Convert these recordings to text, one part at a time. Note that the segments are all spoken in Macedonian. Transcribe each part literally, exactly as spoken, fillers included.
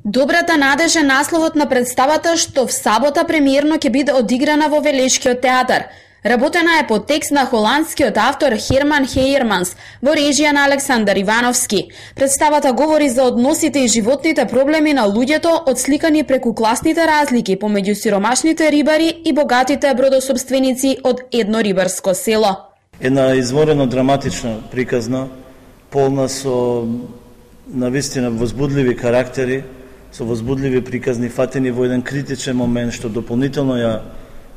Добрата надеж е насловот на представата што в сабота премиерно ќе биде одиграна во Велешкиот театар. Работена е по текст на холандскиот автор Херман Хейерманс во режија на Александар Ивановски. Представата говори за односите и животните проблеми на луѓето, отсликани преку класните разлики помеѓу сиромашните рибари и богатите бродосопственици од едно рибарско село. Една изворено драматична приказна, полна со навистина возбудливи карактери, со возбудливи приказни фатени во еден критичен момент што дополнително ја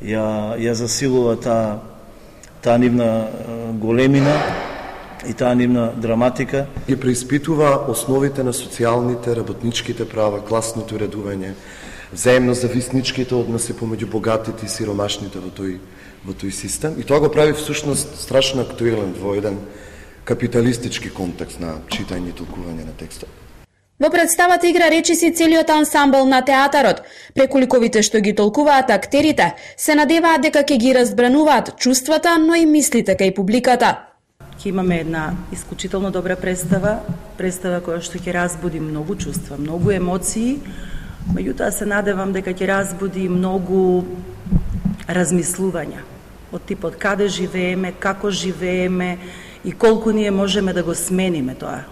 ја ја засилува таа таа нивна големина и таа нивна драматика. Ги преиспитува основите на социјалните, работничките права, класното редување, взаемно зависничките односи помеѓу богатите и сиромашните во тој во тој систем, и тоа го прави всушност страшно актуелен во еден капиталистички контекст на читање и толкување на текстот. Во представата игра речиси целиот ансамбл на театарот. Преку ликовите што ги толкуваат актерите, се надеваат дека ќе ги разбрануваат чувствата, но и мислите кај публиката. Ќе имаме една исклучително добра представа, представа која што ќе разбуди многу чувства, многу емоции, меѓутоа се надевам дека ќе разбуди многу размислувања од типот каде живееме, како живееме и колку ние можеме да го смениме тоа.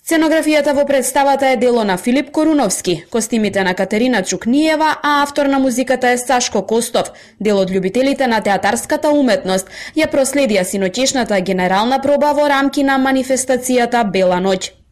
Сценографијата во представата е дело на Филип Коруновски, костимите на Катерина Чукниева, а автор на музиката е Сашко Костов. Дел од љубителите на театарската уметност ја проследија синоќешната генерална проба во рамки на манифестацијата Бела ноќ.